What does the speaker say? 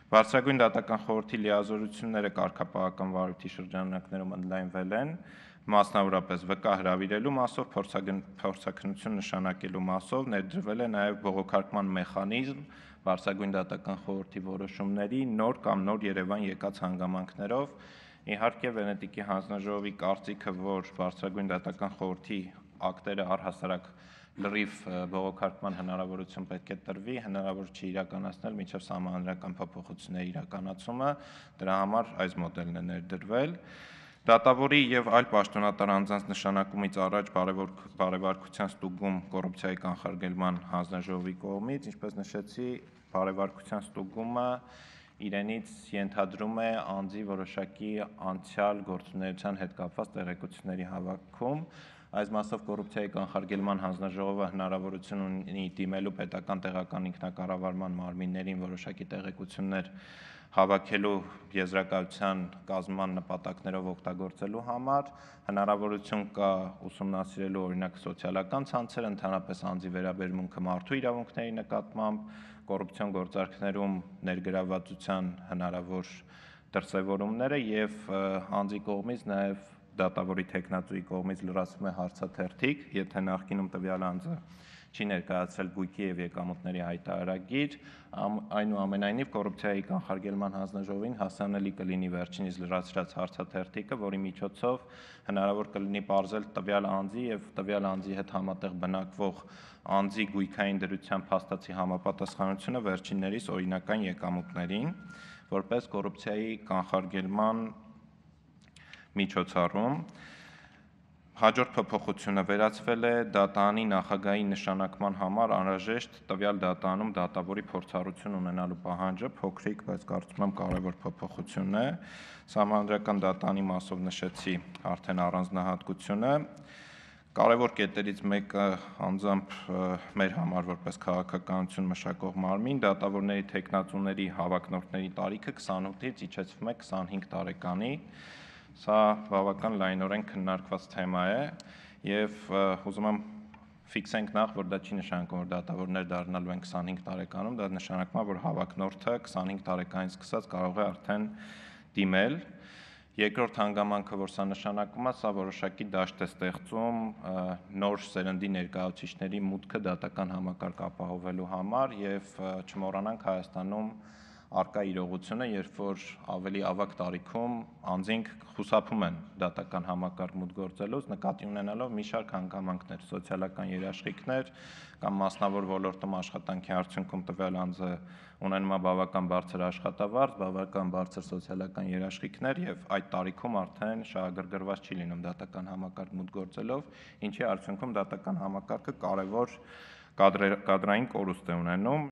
Բարձրագույն դատական խորհրդի լիազորությունները կարգապահական վարույթի շրջանակներում ընդլայնվել են, մասնավորապես վկա հրավիրելու մասով, փորձաքննություն նշանակելու մասով, ներդրվել է նաև բողոքարկման մեխանիզմ Բարձրագույն դատական խորհրդի որոշումների նոր կամ նոր Երևան եկած հանգամանքներով։ Իհարկե Վենետիկի հանձնաժողովի կարծիքը, որ Բարձրագույն դատական խորհրդի ակտերը առհասարակ լրիվ բողոքարկման հնարավորություն պետք է տրվի, հնարավոր չի իրականացնել մինչև սահմանադրական փոփոխությունների իրականացումը, դրա համար այս մոդելն է ներդրվել։ Դատավորի եւ այլ պաշտոնատար անձանց նշանակումից առաջ բարեվարկության ստուգում կոռուպցիայի կանխարգելման հանձնաժողովի կողմից, ինչպես նշեցի, բարեվարկության ստուգումը իրենից ենթադրում է անձի որոշակի անցյալ գործունեության հետ կապված տեղեկությունների հավաքում։ Այս մասով կոռուպցիայի կանխարգելման հանձնաժողովը հնարավորություն ունի դիմելու պետական տեղական ինքնակառավարման մարմիններին որոշակի տեղեկություններ հավաքելու եզրակացության կազմման նպատակներով օգտագործելու համար, հնարավորություն կա ուսումնասիրելու օրինակ սոցիալական ցանցերը, ընդհանրապես անձի վերաբերմունքը մարդու իրավունքների նկատմամբ, կոռուպցիոն գործարքներում ներգրավվածության հնարավոր դրսևորումները եւ անձի կողմից նաև դատավորի թեկնածուի կողմից լրացվում է հարցաթերթիկ, եթե նախկինում տվյալ անձը չի ներկայացրել գույքի եւ եկամուտների հայտարարագիր, այնուամենայնիվ կոռուպցիայի կանխարգելման հանձնաժողովին հասանելի կլինի վերջինիս լրացրած հարցաթերթիկը, որի միջոցով հնարավոր կլինի պարզել տվյալ անձի եւ տվյալ անձի հետ համատեղ բնակվող անձի գույքային դրության փաստացի համապատասխանությունը վերջիններիս օրինական եկամուտներին, որպես կոռուպցիայի կանխարգելման միջոցառում։ Հաջորդ փոփոխությունը վերացվել է դատանի նախագահի նշանակման համար անհրաժեշտ տվյալ դատանում դատավորի փորձառություն ունենալու պահանջը, փոքրիկ, բայց կարծում եմ կարևոր փոփոխություն է։ Սահմանադրական դատանի մասով նշեցի արդեն առանձնահատկությունը։ Կարևոր կետերից մեկը անձամբ մեր համար որպես քաղաքականություն մշակող մարմին, դատավորների թեկնածուների հավակնորդների տարիքը 28-ից իջեցվում է 25 տարեկանի։ Սա բավական լայնորեն քննարկված թեմա է եւ ուզում եմ ֆիքսենք նախ, որ դա չի նշանակում, որ դատավորներ դառնալու են 25 տարեկանում, դա նշանակում է, որ հավակնորդը 25 տարեկանից սկսած կարող է արդեն դիմել։ Երկրորդ հանգամանքը, որ սա նշանակում է, սա որոշակի դաշտ է ստեղծում նոր սերնդի ներկայացուցիչների մուտքը դատական համակարգ ապահովելու համար եւ չմոռանանք Հայաստանում առկա իրողությունը, երբ որ ավելի ավագ տարիքում անձինք խուսափում են դատական համակարգ մուտք գործելուց, նկատի ունենալով մի շարք հանգամանքներ, սոցիալական երաշխիքներ կամ մասնավոր ոլորտում աշխատանքի արդյունքում տվյալ անձը ունենում է բավական բարձր աշխատավարձ, բավական բարձր սոցիալական երաշխիքներ եւ այդ տարիքում արդեն շահագրգռված չի լինում դատական համակարգ մուտք գործելով, ինչի արդյունքում դատական համակարգը կարևոր կադրային կորուստ է ունենում։